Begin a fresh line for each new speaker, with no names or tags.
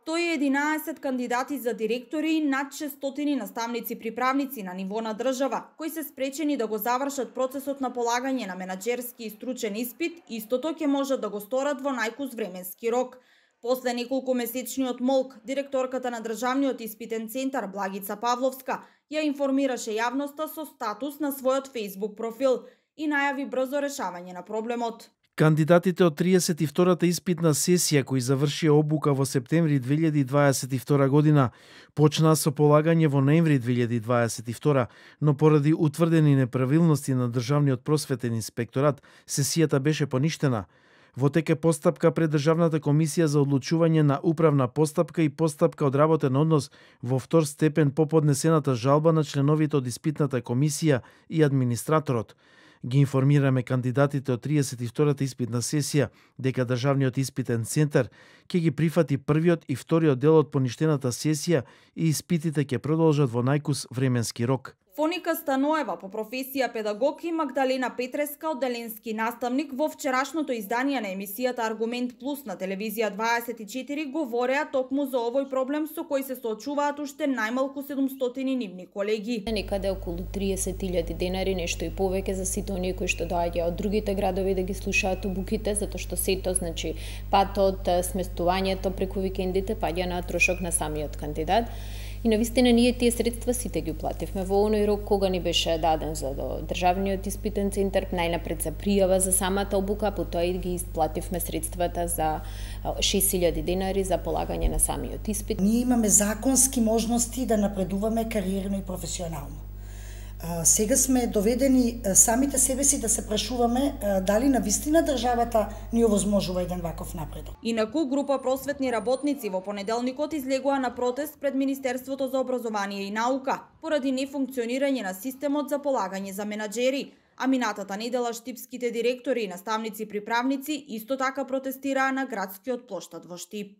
111 кандидати за директори и над 600 наставници-приправници на ниво на држава, кои се спречени да го завршат процесот на полагање на менаџерски и стручен испит, истото ќе можат да го сторат во најкус временски рок. После неколку месечниот молк, директорката на Државниот испитен центар Благица Павловска ја информираше јавноста со статус на својот Facebook профил и најави брзо решавање на проблемот.
Кандидатите од 32-та испитна сесија кои завршија обука во септември 2022 година почнаа со полагање во ноември 2022, но поради утврдени неправилности на Државниот просветен инспекторат, сесијата беше поништена. Во тек е постапка пред Државната комисија за одлучување на управна постапка и постапка од работен однос во втор степен по поднесената жалба на членовите од испитната комисија и администраторот. Ги информираме кандидатите од 32-та испитна сесија дека Државниот испитен центар ќе ги прифати првиот и вториот дел од поништената сесија и испитите ќе продолжат во најкус временски рок.
Фоника Станоева, по професија педагог, и Магдалена Петреска, одделенски наставник, во вчерашното издание на емисијата Аргумент Плюс на телевизија 24 говореа токму за овој проблем со кој се соочуваат уште најмалку 700 нивни колеги.
Некаде околу 30.000 денари, нешто и повеќе за сите оние кои што доаѓаат од другите градови да ги слушаат обуките, затоа што сето, значи патот, сместувањето преку викендите паѓа на трошок на самиот кандидат. И навистина ние тие средства сите ги уплативме во оној рок кога ни беше даден за Државниот испитен центар, најнапред за пријава за самата обука, потоа и ги исплативме средствата за 6.000 денари за полагање на самиот испит.
Ние имаме законски можности да напредуваме кариерно и професионално. Сега сме доведени самите себе си да се прашуваме дали навистина државата ни овозможува еден ваков напредок.
Инаку, група просветни работници во понеделникот излегоа на протест пред Министерството за образование и наука поради нефункционирање на системот за полагање за менаџери. А минатата недела штипските директори и наставници-приправници исто така протестираа на градскиот плоштад во Штип.